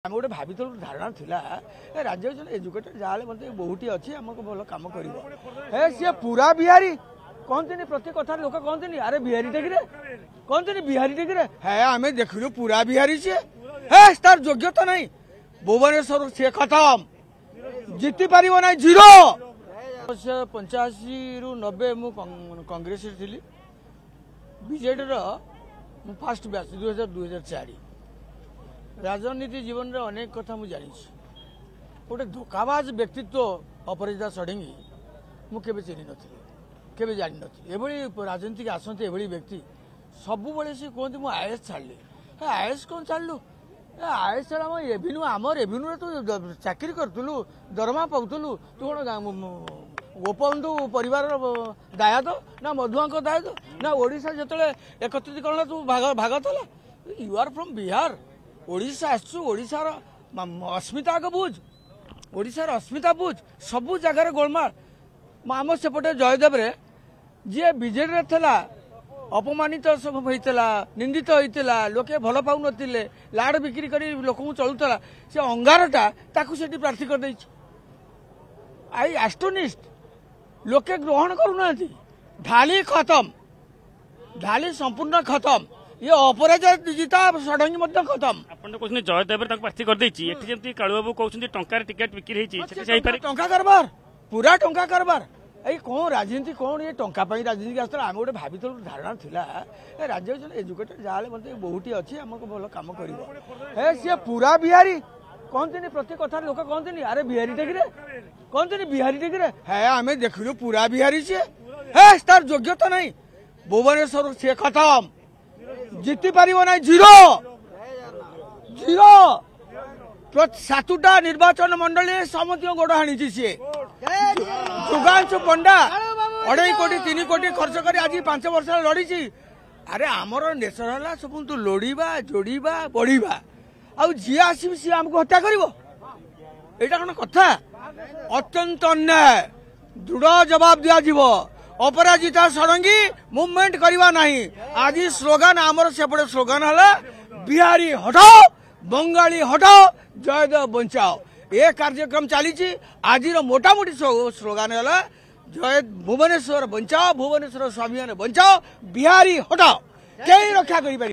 ଆମେ ଗୋଟେ ଭାବିଥିଲୁ, ଧାରଣା ଥିଲା ଏ ରାଜ୍ୟରେ ଜଣେ ଏଜୁକେଟେଡ୍ ଯାହାହେଲେ ମଧ୍ୟ ବହୁଟି ଅଛି, ଆମକୁ ଭଲ କାମ କରିବ। ହେ ସିଏ ପୁରା ବିହାରୀ କହନ୍ତିନି, ପ୍ରତି କଥାରେ ଲୋକ କହନ୍ତିନି, ଆରେ ବିହାରୀ ଟେକିରେ କହନ୍ତିନି, ବିହାରୀ ଟେକିରେ। ହେ ଆମେ ଦେଖିଲୁ ପୁରା ବିହାରୀ ସିଏ। ହେ ତାର ଯୋଗ୍ୟତା ନାହିଁ, ଭୁବନେଶ୍ୱର ସିଏ ଖତମ, ଜିତି ପାରିବ ନାହିଁ, ଜିରୋ। 85ରୁ 90 ମୁଁ କଂଗ୍ରେସରେ ଥିଲି, ବିଜେଡ଼ିର ମୁଁ ଫାଷ୍ଟ ବ୍ୟାଚ୍ 2000 2004। ରାଜନୀତି ଜୀବନରେ ଅନେକ କଥା ମୁଁ ଜାଣିଛି। ଗୋଟେ ଧୋକାବାଜ ବ୍ୟକ୍ତିତ୍ୱ ଅପରାଜିତା ଷଡ଼ଙ୍ଗୀ ମୁଁ କେବେ ଚିହ୍ନି ନଥିଲି, କେବେ ଜାଣିନଥିଲି। ଏଭଳି ରାଜନୀତିକି ଆସନ୍ତି ଏଭଳି ବ୍ୟକ୍ତି। ସବୁବେଳେ ସେ କୁହନ୍ତି ମୁଁ is ଛାଡ଼ିଲି। ହେ is କ'ଣ ଛାଡ଼ିଲୁ? ଏ is ଛାଡ଼, ଆମ ରେଭିନ୍ୟୁ, ଆମ ରେଭିନ୍ୟୁରେ ତୁ ଚାକିରି କରୁଥିଲୁ, ଦରମା ପାଉଥିଲୁ। ତୁ କ'ଣ ଗୋପବନ୍ଧୁ ପରିବାରର ଦାୟାଦ ନା ମଧୁଆଙ୍କ ଦାୟାଦ ନା? ଓଡ଼ିଶା ଯେତେବେଳେ ଏକତ୍ରିକରଣ ତୁ ଭାଗ ଥିଲା। You R from Bihar, Odisha ଆସିଛୁ, ଓଡ଼ିଶାର ଅସ୍ମିତା ଆଗ ବୁଝ, ଓଡ଼ିଶାର ଅସ୍ମିତା ବୁଝ। ସବୁ ଜାଗାରେ ଗୋଳମାଳ। ଆମ ସେପଟେ ଜୟଦେବରେ ଯିଏ ବିଜେଡ଼ିରେ ଥିଲା ଅପମାନିତ ସବୁ ହେଇଥିଲା, ନିନ୍ଦିତ ହେଇଥିଲା, ଲୋକେ ଭଲ ପାଉନଥିଲେ, ଲାଡ଼ ବିକ୍ରି କରି ଲୋକଙ୍କୁ ଚଳୁଥିଲା, ସେ ଅଙ୍ଗାରଟା ତାକୁ ସେଠି ପ୍ରାର୍ଥୀ କରିଦେଇଛି। I ଆଷ୍ଟୋନିଷ୍ଟ, ଲୋକେ ଗ୍ରହଣ କରୁନାହାନ୍ତି। ଢାଲି ଖତମ, ଢାଲି ସମ୍ପୂର୍ଣ୍ଣ ଖତମ। ଇଏ ଅପରାଜିତା ଷଡ଼ଙ୍ଗୀ ମଧ୍ୟ ଖତମ। ଆପଣ ତ କହୁଛନ୍ତି ଜୟଦେବରେ ତାକୁ ପ୍ରାର୍ଥୀ କରିଦେଇଛି, ଏଠି ଯେମିତି କାଳୁବାବୁ କହୁଛନ୍ତି ଟଙ୍କାରେ ଟିକେଟ ବିକ୍ରି ହେଇଛି, ସେଠି ହେଇପାରେ ଟଙ୍କା କାରବାର, ପୁରା ଟଙ୍କା କାରବାର। ଏଇ କ'ଣ ରାଜନୀତି, କ'ଣ ଇଏ ଟଙ୍କା ପାଇଁ ରାଜନୀତି ଆସୁଥିଲା? ଆମେ ଗୋଟେ ଭାବିଥିଲୁ, ଧାରଣା ଥିଲା ଏ ରାଜ୍ୟରେ ଜଣେ ଏଜୁକେଟେଡ୍ ଯାହାହେଲେ ମଧ୍ୟ ବହୁଟି ଅଛି, ଆମକୁ ଭଲ କାମ କରିବ। ହେ ସିଏ ପୁରା ବିହାରୀ କହନ୍ତିନି, ପ୍ରତି କଥାରେ ଲୋକ କହନ୍ତିନି, ଆରେ ବିହାରୀ ଟେକିରେ କହନ୍ତିନି, ବିହାରୀ ଟେକିରେ। ହେ ଆମେ ଦେଖିଲୁ ପୁରା ବିହାରୀ ସିଏ। ହେ ତାର ଯୋଗ୍ୟତା ନାହିଁ, ଭୁବନେଶ୍ୱର ସିଏ ଖତମ, ଜିତି ପାରିବ ନାହିଁ, ଜିରୋ ଜିରୋ। 7ଟା ନିର୍ବାଚନ ମଣ୍ଡଳୀରେ ସମସ୍ତଙ୍କ ଗୋଡ଼ ହାଣିଛି ସିଏ। ଯୁଗାଂଶୁ ପଣ୍ଡା 2.5 କୋଟି 3 କୋଟି ଖର୍ଚ୍ଚ କରି ଆଜି 5 ବର୍ଷ ଲଢିଛି। ଆରେ ଆମର ନେଚର ହେଲା ସବୁ ଲୋଡ଼ିବା, ଯୋଡ଼ିବା, ବଢିବା, ଆଉ ଯିଏ ଆସିବି ସିଏ ଆମକୁ ହତ୍ୟା କରିବ, ଏଇଟା କଣ କଥା? ଅତ୍ୟନ୍ତ ଅନ୍ୟାୟ, ଦୃଢ଼ ଜବାବ ଦିଆଯିବ। ଅପରାଜିତା ଷଡ଼ଙ୍ଗୀ ମୁଭମେଣ୍ଟ କରିବା ନାହିଁ। ଆଜି ସ୍ଲୋଗାନ ଆମର ସେପଟେ ସ୍ଲୋଗାନ ହେଲା ବିହାରୀ ହଟାଓ, ବଙ୍ଗାଳୀ ହଟାଓ, ଜୟଦେବ ବଞ୍ଚାଓ। ଏ କାର୍ଯ୍ୟକ୍ରମ ଚାଲିଛି। ଆଜିର ମୋଟାମୋଟି ସ୍ଲୋଗାନ ହେଲା ଜୟ ଭୁବନେଶ୍ୱର ବଞ୍ଚାଓ, ଭୁବନେଶ୍ୱର ସ୍ୱାଭିମାନ ବଞ୍ଚାଓ, ବିହାରୀ ହଟାଓ। କେହି ରକ୍ଷା କରିପାରିବେ